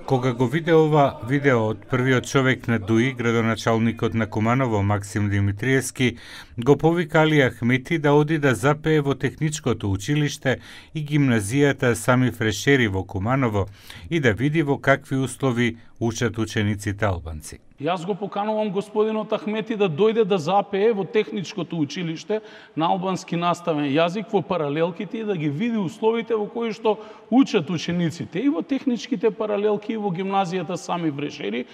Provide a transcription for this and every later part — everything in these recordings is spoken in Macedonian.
Кога го виде ова видео од првиот човек на ДУИ, градоначалникот на Куманово Максим Димитриевски го повика Али Ахмети да оди да запее во техничкото училиште и гимназијата Сами Фрешери во Куманово и да види во какви услови учат учениците албанци. Јас го поканувам господинот Ахмети да дојде да запее во техничкото училиште на албански наставен јазик во паралелките и да ги види условите во кои што учат учениците и во техничките паралелки и во гимназијата Сами Фрешери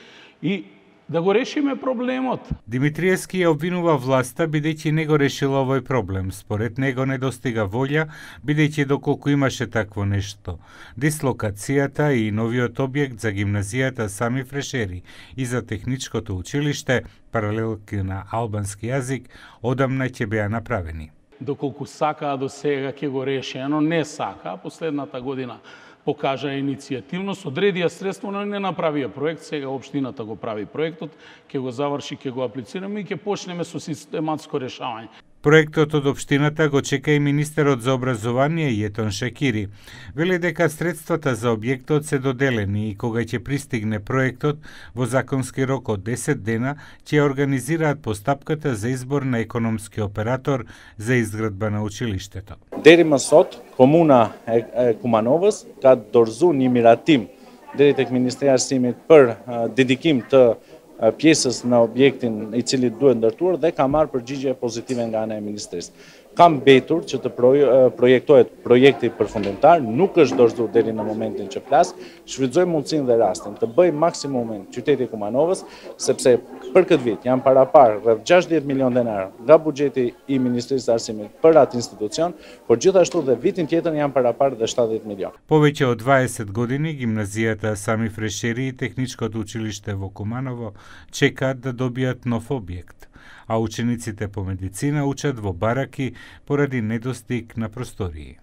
и да го решиме проблемот. Димитриевски ја обвинува власта бидејќи не го решила овој проблем. Според него не достига волја, бидејќи доколку имаше такво нешто. Дислокацијата и новиот објект за гимназијата Сами Фрешери и за техничкото училиште, паралелки на албански јазик, одамна ќе беа направени. Доколку сакаа до сега ќе го реши, но не сака, последната година покажа иницијативност, одредија средство, но не направија проект, сега општината го прави проектот, ќе го заврши, ќе го аплицираме и ќе почнеме со систематско решавање. Проектот од општината го чека и министерот за образование Јетон Шекири. Вели дека средствата за објектот се доделени и кога ќе пристигне проектот, во законски рок од 10 дена ќе организираат постапката за избор на економски оператор за изградба на училиштето. Deri më sot, komuna e Kumanovës ka dorëzuar një miratim deri tek Ministria e Arsimit për dedikim të pjesës në objektin i cili duhet ndërtuar dhe ka marrë përgjigje pozitive nga ana e Ministrisë. Ka mbetur që të projektohet projekti përfundimtar, nuk është dorëzuar deri në momentin që flas. Shfrytëzoj mundësinë dhe rastin të bëj maksimumin qyteti i Kumanovës, sepse për këtë vit janë parapar rreth 60 milion denar nga buxheti i Ministrisë së Arsimit për atë institucion, por gjithashtu dhe vitin tjetër janë parapar dhe 70 milion. Повеќе од 20 години гимназијата Сами Фрешери и техничкото училиште во Куманово чекаат да добијат нов објект, а учениците по медицина учат во бараки поради недостиг на простории.